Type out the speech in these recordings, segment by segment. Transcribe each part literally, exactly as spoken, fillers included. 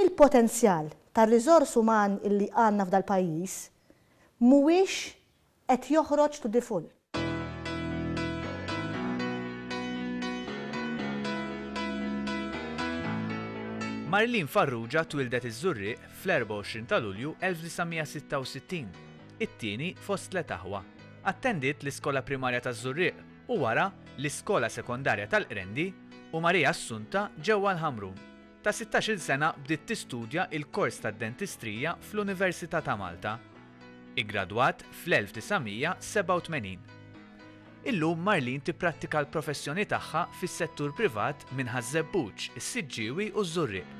Il-potenzjal tar-riżors uman illi għandna f'dal pajjiż mhuwiex qed joħroġ to the full. Marlene Farrugia twildet iż-Żurrieq fl-erbgħa u għoxrin ta' Lulju elf disa' mija sitta u sittin, it-tieni fost tliet aħwa. Attendiet l-iskola primarja taż-Żurrieq u wara l-iskola sekondarja tal-Qrendi u Maria Assunta ġewwa l-Ħamrun. Ta' sittax-il sena bdiet tistudja il-kors tad-dentistrija fl-Università ta' Malta. Iggradwat fl-elf disa' mija sebgħa u tmenin. Illum Marlene tipprattika l-professjoni tagħha fis-settur privat minn Ħaż-Żebbuġ, is-Siġġiewi u ż-Żurrieq.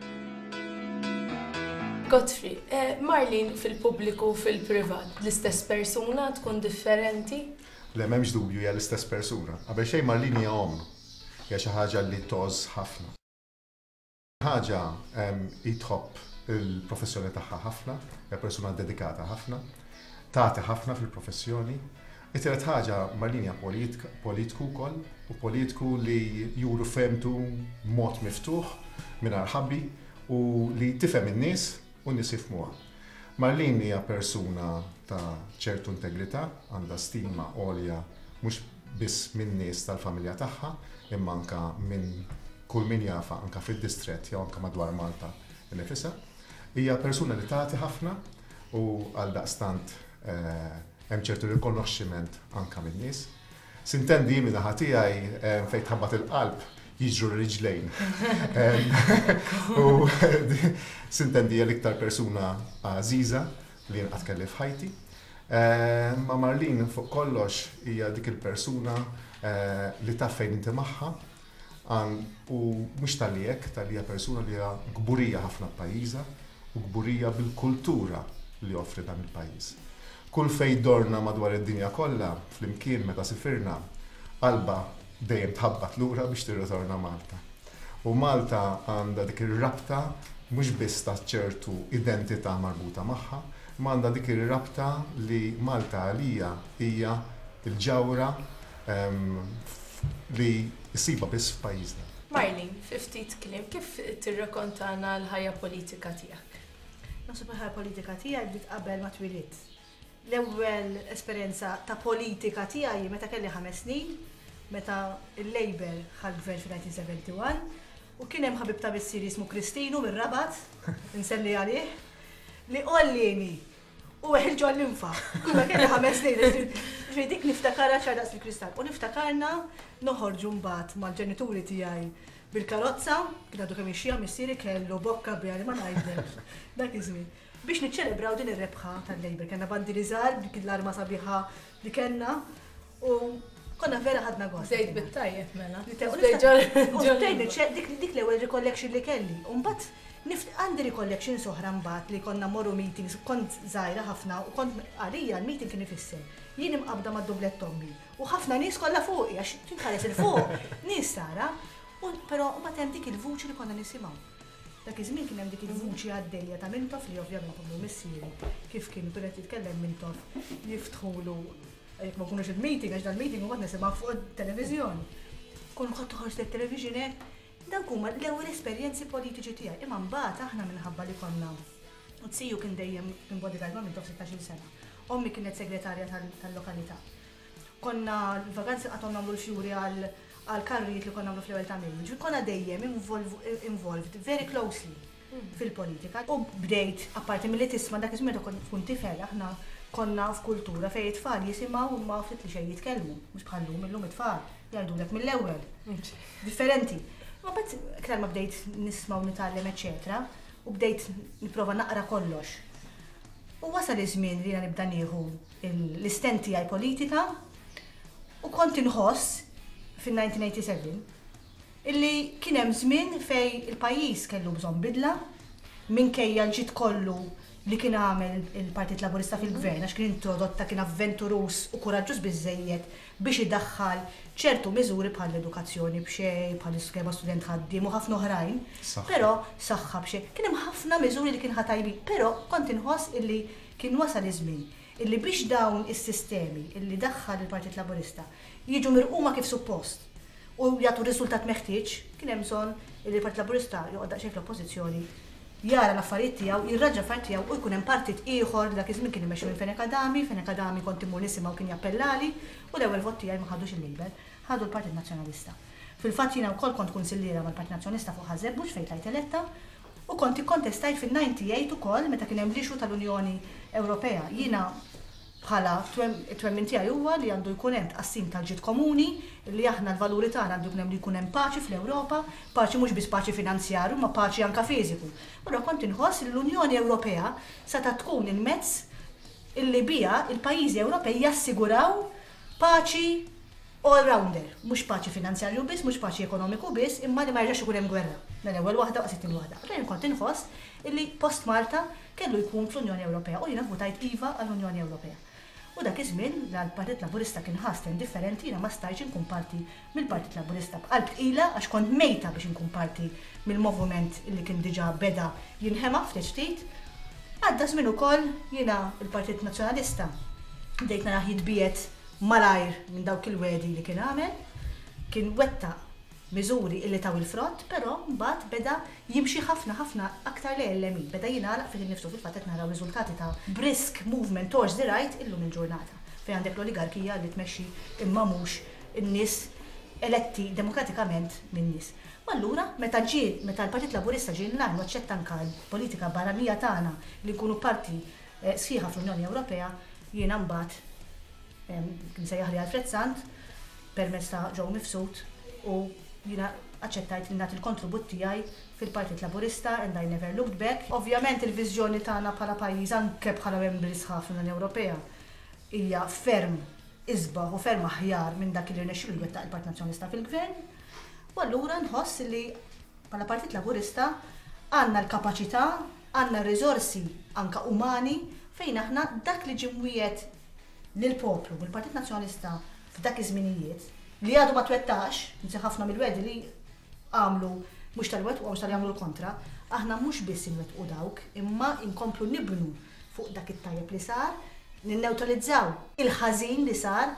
Godfrey, eh, Marlene fil-pubbliku u fil-privat, l-istess persuna tkun differenti? Le, m'hemmx dubju, hija l-istess persuna. Qabel xejn Marlene hija omm, hija xi ħaġa li tgħożż ħafna. Ħaġa, em, hi tħobb il-professjoni tagħha ħafna, hija persuna dedikata ħafna, tagħti ħafna fil-professjoni. It-tielet ħaġa, Marlene hija politika, politiku wkoll, u politiku li juru femtu b'mod miftuħ mingħajr ħabbi u li tifhem in-nies u n-nies jifhmuha. Marlene hija persuna ta' ċertu integrità, għandha stima għolja mhux biss min-nies tal-familja tagħha, imma anka minn kull min jafa anka fid-distrett jew anka madwar Malta nifisha. Hija persuna li tagħti ħafna u għal daqstant, eh, hemm ċertu rikonoxximent anka min-nies. Sintendi minn naħa tiegħi, eh, fejn tħabbat il-qalb jiġru r-riġlejn. U sintendi hija l-iktar persuna għażiża li jien qatt kelli f'ħajti. Eh, ma Marlene fuq kollox hija dik il-persuna, eh, li taf fejn inti magħha, għan-, u mhux talli hekk, talli hija persuna li hija kburija ħafna b'pajjiżha u kburija bil-kultura li joffri dan il-pajjiż. Kull fejn dorna madwar id-dinja kollha, flimkien meta sifirna, qalba dejjem tħabbat lura biex tirritorna Malta. U Malta għandha dik ir-rabta mhux biss ta' ċertu identità marbuta magħha, ma għandha dik ir-rabta li Malta għalija hija l-ġawhra, ehm, li ssiba biss f'pajjiżna. Marlene, fi ftit kliem, kif tirrakontana l-ħajja politika tiegħek? Naħseb il-ħajja politika tiegħi bdiet qabel ma twilidt. L-ewwel esperjenza ta' politika tiegħi meta kelli ħames snin, meta il-Labour ħa l-gvern fil-nineteen seventy-one, u kien hemm ħabib ta' missieri jismu Kristinu mir-Rabat, inselli għalih, li qollini u weħil ġol l-infa. Kull ma kelli ħames snin, ġifieri dik niftakarha ċar daqs il-kristall. U niftakarna noħorġu mbagħad mal-ġenituri tiegħi bil-karozza, kien għadu kemm ixxija missieri kellu bokka biha li ma ngħidlekx dak iż-żmien. Biex niċċelebraw din ir-rebħa tal-Labour. Kellna bandiri żgħar, dik l-arma sabiħa li kellna, u konna vera ħadna gost. Bdejt bit-tajjeb mela. Li te- u Bdejt niftakar- ġol- u ġol- bdejt niċċe-, dik, dik l-ewwel recollection li kelli. U mbagħad nift-, għandi recollections oħra mbagħad li konna morru meetings, kont żgħira ħafna u kont għalija l-meeting kien ifisser. Jien imqabda mad-dublett ommi u ħafna nies kollha fuqi għax tinħares il fuq, nies tara, u però mbagħad hemm dik il-vuċi li konna nisimgħu. Dak iż-żmien kien hemm dik il-vuċi għaddejja ta' Mintoff li ovvjament ommi missieri kif kienu kien qed jitkellem Mintoff jiftħulu jekk ma nkunux il-meeting, għax dal-meeting u nisimgħu fuq it-televiżjoni. Kun kont toħroġ lit-television hekk, dawk huma l-ewwel esperjenzi politiċi tiegħi. Imma mbagħad aħna minħabba li konna u ziju kien dejjem kien bodyguard ma' Mintoff sittax-il sena. Ommi kienet segretarja tal-, tal-lokalità. Konna l-vaganzi qatt nagħmlu l-fjuri għal, għal karrijiet li konna nagħmlu fl-ewwel ta' Mejju. Ġifieri konna dejjem involv-, involved very closely fil-politika. U bdejt, apparti milli tisma' dak iż-żmien meta kont tkun tifel, aħna konna f'kultura fejn it-tfal jisimgħu u ma ftit li xejn jitkellmu, mhux bħal-lum, illum it-tfal jgħidulek mill-ewwel. Differenti. Ma mbagħad iktar ma bdejt nisma' u nitgħallem, eċċetera, u bdejt nipprova naqra kollox. U wasal iż-żmien li jiena nibda nieħu il-, l-istent tiegħi politika u kont inħoss fin-nineteen eighty-seven illi kien hemm żmien fejn il-pajjiż kellu bżonn bidla minkejja l-ġid kollu li kien għamel il-Partit Laburista fil-gvern, għax kien introdotta, kien avventurus u kuraġġuż biżejjed biex idaħħal ċertu miżuri bħal l-edukazzjoni b'xejn, bħal iskema student ħaddiem u ħafna oħrajn. Però saħħa b'xejn. Kien hemm ħafna miżuri li kien ħatajbin, però kont inħoss illi kien wasal iż-żmien illi biex dawn is-sistemi illi daħħal il-Partit Laburista jiġu mirquma kif suppost u jagħtu riżultat meħtieġ, kien hemm bżonn illi l-Partit Laburista joqgħod daqsxejn fl-oppożizzjoni, jara l-affarijiet tiegħu, jirraġa l-affarijiet tiegħu u jkun hemm partit ieħor li dak iż-żmien kien imexxi minn Fenech Adami. Fenech Adami kont immur nisimgħu, kien jappellali u l-ewwel vot tiegħi ma ħadux il-Labour, ħadu l-Partit Nazzjonalista. Fil-fatt jiena wkoll kont kunsilliera mal-Partit Nazzjonalista fuq Ħaż-Żebbuġ fejn tlajt eletta u kont ikkontestajt fin-disgħa u disgħin ukoll meta kien hemm l-issue tal-Unjoni Ewropea. Jiena bħala twemmin tiegħi huwa li għandu jkun hemm tqassim tal-ġid komuni, li aħna l-valuri tagħna għandu jkun hemm li jkun hemm paċi fl-Ewropa, paċi mhux biss paċi finanzjarju, ma paċi anka fiżiku. Allura kont inħoss li l-Unjoni Ewropea seta' tkun il-mezz illi bija il-pajjiżi Ewropej jassiguraw paċi all-rounder, mhux paċi finanzjarju biss, mhux paċi ekonomiku biss, imma li ma jerġax ikun hemm gwerra. Mela ewwel waħda u sittin waħda. Allura kont inħoss illi post Malta kellu jkun fl-Unjoni Ewropea u jiena votajt iva għall-Unjoni Ewropea. U dak iż-żmien l-Partit Laburista kien ħasten differenti, jiena ma stajtx inkun parti mill-Partit Laburista b'qalb tqila għax kont mejta biex inkun parti mill-moviment illi kien diġà beda jinħema ftit ftit. Għadda żmien ukoll, jiena il-Partit Nazzjonalista bdejt narah jitbiegħed malajr minn dawk il-wegħdi li kien għamel, kien wettaq miżuri illi taw il-frott, però mbagħad beda jimxi ħafna ħafna aktar lejn il-lemin, beda jingħalaq fih innifsu. Fil-fatt qed naraw riżultati ta' brisk movement towards the right illum il-ġurnata, fejn għandek l-oligarkija li tmexxi imma mhux in-nies eletti demokratikament min-nies. U allura meta ġie meta l-Partit Laburista ġie inline u aċċetta anka l-politika barranija tagħna li nkunu parti eh, sħiħa fl-Unjoni Ewropea, jiena mbagħad kien sejjaħli Alfred Sant permezz ta' Joe Mifsud u jiena aċċettajt li nagħti l-kontribut tiegħi fil-Partit Laburista and I never looked back. Ovvjament il-viżjoni tagħna bħala pajjiż, anke bħala membri sħaħ fl-Unjoni Ewropea, hija ferm isbaħ u ferm aħjar minn dak li rnexxielu jwettaq il-Partit Nazzjonalista fil-Gvern. U allura nħoss li bħala Partit Laburista għandna l-kapaċità, għandna r-riżorsi anka umani fejn aħna dak li ġie mwiegħed lill-poplu mill-Partit Nazzjonalista f'dak iż-żminijiet li għadu ma twettax, nsi ħafna mill-wegħdi li għamlu mhux tal-wet u mhux tal-jagħmlu l-kontra, aħna mhux biss inwettqu dawk, imma inkomplu nibnu fuq dak it-tajjeb li sar, ninneutralizzaw il-ħażin li sar,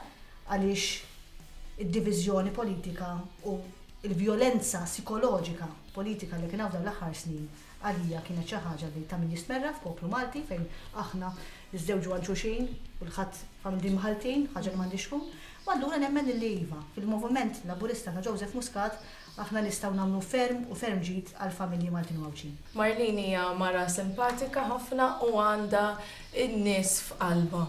għaliex id-diviżjoni politika u il-vjolenza psikoloġika politika li kien hawn dawn l-aħħar snin għalija kienet xi ħaġa li ta' min jistmerra f'poplu Malti, fejn aħna niżżewġu għal xulxin u l-ħadd familji mħaltin, ħaġa li m'għandix tkun. U allura nemmen li iva, fil-moviment Laburista ta' Joseph Muscat aħna nistgħu nagħmlu ferm u ferm ġid għal familji Maltin u Għawdxin. Marlene hija mara simpatika ħafna u għandha n-nies f'qalba.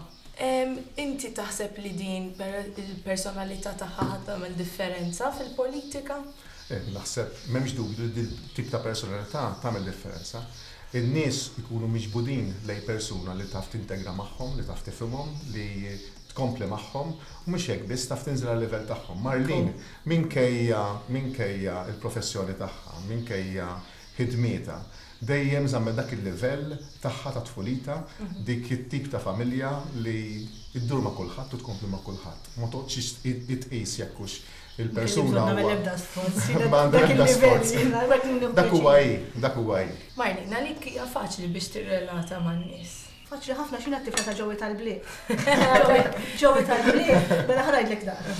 Inti taħseb li din il-personalità tagħha ħa tagħmel differenza fil-politika? Eh, naħseb m'hemmx dubju li din tip ta' personalità tagħmel differenza. In-nies ikunu miġbudin lej persuna li taf tintegra magħhom, li taf tifhimhom, li tkompli magħhom, u mhux hekk biss, taf tinżel għal-livell tagħhom. Marlene, minkejja minkejja il-professjoni tagħha, minkejja ħidmietha, dejjem żammet dak il-livell tagħha ta' tfulita, dik it-tip ta' familja li iddur ma' kulħadd u tkompli ma' kulħadd. Ma toqgħodx itqis jekk hux il-persuna. Ma huwa- ebda sforz. Ma għandha Dak l-ebda il-livell, sforz. jiena, dak il-livell. Dak huwa hi, dak huwa hi. Marlene, għalik hija faċli biex tirrelata man-nies? Faċli ħafna, xina t-tifla ta' Joey tal-Bliet. Joey tal-Bliet, mela ħa ngħidlek naqra.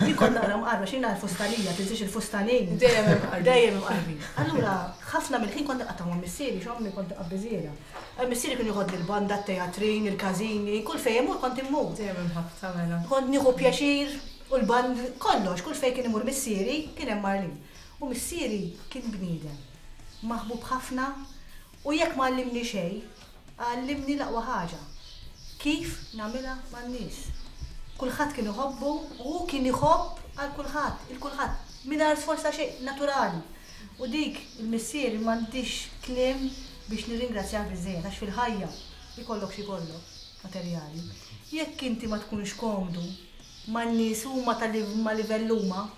Jien kont naqra mqarba, xina l-fustanija, tinsiex il-fustanin. Dejjem imqarbin. Dejjem imqarbin. Allura, ħafna mill-ħin kont nqatta' ma' missieri, x'ommi kont qabbiżiera. Missieri kien joħodni l-banda, t-teatrin, il-każini, kull fejn imur kont immur. Dejjem imħabbta mela. Kont nieħu pjaċir u l-band kollox, kull fejn kien imur missieri kien hemm Marlene. U missieri kien bniedem maħbub ħafna u jekk ma għallimni xejn, għallimni l-aqwa ħaġa. Kif nagħmilha man-nies. Kulħadd kien iħobbu u hu kien iħobb għal kulħadd, il-kulħadd, mingħajr sforz ta' xejn, naturali. U dik il-missieri m'għandix kliem biex nirringrazzjah biżejjed, għax fil-ħajja ikollok xi kollok materjali. Jekk inti ma tkunx komdu man-nies huma tal ma livell huma,